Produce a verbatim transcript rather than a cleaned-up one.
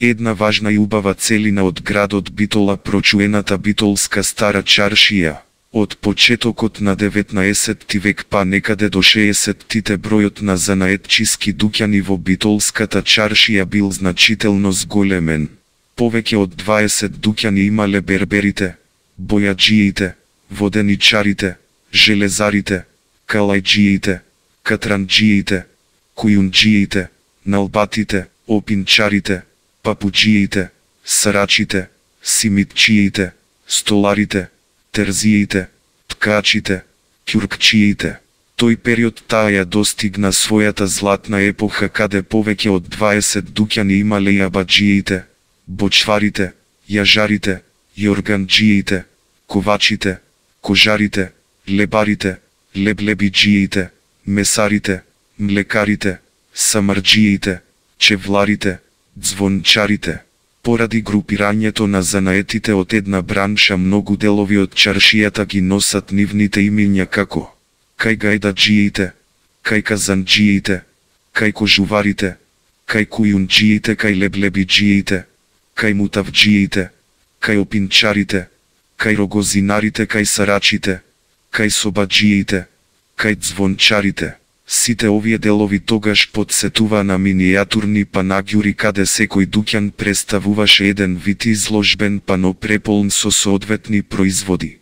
Една важна и убава целина од градот Битола прочуената Битолска стара чаршија. Од почетокот на деветнаесетти век па некаде до шеесеттите бројот на занаетчиски дуќани во Битолската чаршија бил значително зголемен. Повеќе од дваесет дуќани имале берберите, бојаджиите, воденичарите, железарите, калајджиите, катранџиите, кујунџиите, налбатите, опинчарите, папуџиите, сарачите, симитчиите, столарите, терзиите, ткачите, ќуркчиите. Тој период таа ја достигна својата златна епоха каде повеќе од дваесет дуќани имале јабаџиите, бочварите, јажарите, јорганџиите, ковачите, кожарите, лебарите, леблебиџиите, месарите, млекарите, самарџиите, чевларите, звончарите. Поради групирањето на занаетите од една бранша многу делови од чаршијата ги носат нивните имиња како кај гајдаџиите, кај казанџиите, кај кожуварите, кај кујунџиите, кај леблебиџиите, кај мутавџиите, кај опинчарите, кај рогозинарите, кај сарачите, кај собаџиите, кај звончарите. Сите овие делови тогаш подсетува на минијатурни панаѓури каде секој дуќан представуваше еден вид изложбен пано преполн со соодветни производи.